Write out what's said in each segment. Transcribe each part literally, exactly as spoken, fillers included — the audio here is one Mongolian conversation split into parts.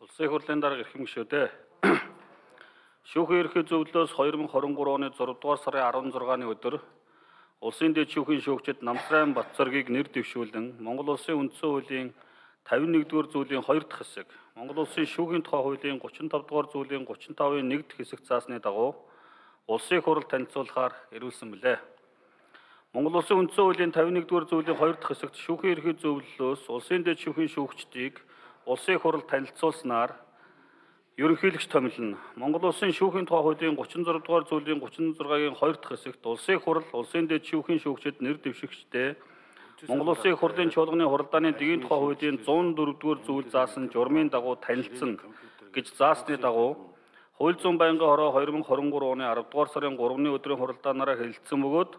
Улсын хурлын дарга эрхэм гишүүдээ шүүхийн ерхий зөвлөлөөс two thousand twenty-three оны six дугаар сарын sixteen-ны өдөр улсын дэд шүүхийн шүүгчид Намсрайн Батцоргийг нэр дэвшүүлэн Монгол Улсын үндсэн хуулийн fifty-one-р зүйлийн two дахь хэсэг, Монгол Улсын шүүхийн тухай хуулийн thirty-five дугаар зүйлийн thirty-five-ын one дахь хэсэг заасны дагуу улсын хурал танилцуулахаар ирүүлсэн билээ. Монгол Улсын үндсэн хуулийн fifty-one дугаар зүйлийн two дахь хэсэгт шүүхийн ерхий зөвлөлөөс улсын дэд шүүхийн шүүгчдийг улсын хурал танилцуулснаар ерөнхийлөгч томилно. Монгол Улсын шүүхийн тухай хуулийн thirty-six дугаар зүйлийн thirty-six-гийн two дахь хэсэгт улсын хурал улсын дэд шүүхийн шүүгчид нэр дэвшигчдээ Монгол Улсын хурлын чуулганы хуралдааны дэгийн тухай хуулийн one oh four дугаар зүйл заасан журмын дагуу танилцсан гэж заасны дагуу хууль зүйн байнгын хороо twenty twenty-three оны ten дугаар сарын three-ны өдрийн хуралдаанаараа хэлэлцсэн бөгөөд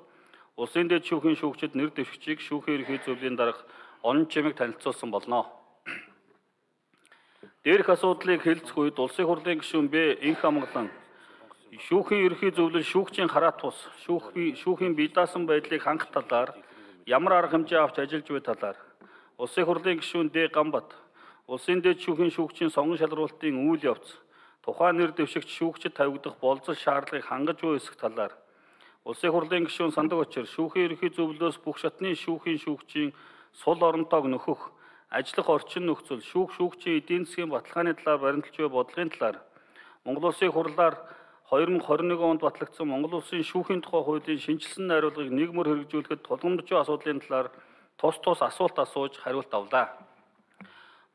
улсын дэд шүүхийн шүүгчид нэр дэвшигчийг шүүхийн ерхий зөвлөлийн дарга онон чимэг танилцуулсан болно. Дээрх асуудлыг хэлцэх үед улсын хурлын гишүүн Б инх амгалан шүүхийн ерхий зөвлөл шүүгчийн хараат тус шүүхийн бие даасан байдлыг хангах талаар ямар арга хэмжээ авч ажиллаж буй талаар улсын хурлын гишүүн Д Гамбат улсын дэд шүүхийн шүүгчийн сонгон шалралтын үйл явц тухайн нэр дэвшигч шүүгчид тавигдах болцол шаардлагыг хангаж буй хэсэг талаар улсын хурлын гишүүн Сандаг Очир шүүхийн ерхий зөвлөлөөс бүх шатны шүүхийн шүүгчийн сул оронтойг нөхөх ажиллах орчин нөхцөл шүүх шүүгчийн эдийн засгийн баталгааны талаар баримталж буй бодлогын талаар Монгол Улсын хурлаар twenty twenty-one онд батлагдсан Монгол Улсын шүүхийн тухай хуулийн шинжилсэн найруулгыг нийгмээр хэрэгжүүлэхэд тулгамдж буй асуудлын талаар тус тус асуулт асууж хариулт авлаа.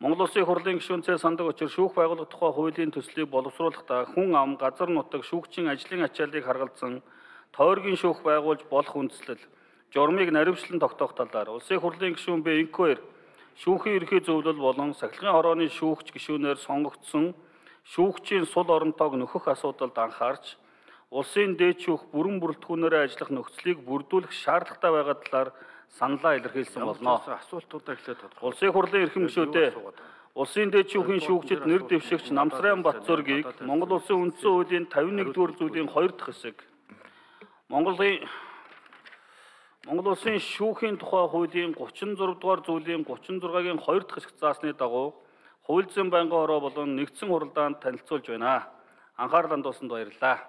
Монгол Улсын хурлын гишүүн Ц Сандаг Очир шүүх байгууллага тухай хуулийн төслийг боловсруулахдаа хүн ам, газар нутаг, шүүгчийн ажлын ачааллыг харгалзан тойргийн шүүх байгуулж болох үндслэл, журмыг наривчлан тогтоох талаар улсын хурлын гишүүн Б Инквер шүүхийн ерхий зөвлөл болон сахилгын хорооны шүүгч гишүүнээр сонгогдсон шүүгчийн сул оронтойг нөхөх асуудалд анхаарч улсын дээд шүүх бүрэн бүрэлдэхүүнээр ажиллах нөхцөлийг бүрдүүлэх шаардлагатай байгаа талаар саналаа илэрхийлсэн болно. Асуултуудаа эхлээд тодорхой. Улсын хурлын эрхэм гишүүдээ улсын дээд шүүхийн шүүгчид нэр дэвшигч Намсрайн Батцоргийг Монгол Улсын үндсэн хуулийн fifty-one дугаар зүйлийн two дахь хэсэг, Монголын Монгол Улсын шүүхийн тухай хуулийн thirty-six дугаар зүйлийн thirty-six-гийн two дахь хэсэг заасны дагуу хууль зүйн байнгын хороо болон нэгдсэн хуралдаанд танилцуулж байна. Анхаарланд тусанд баярлалаа.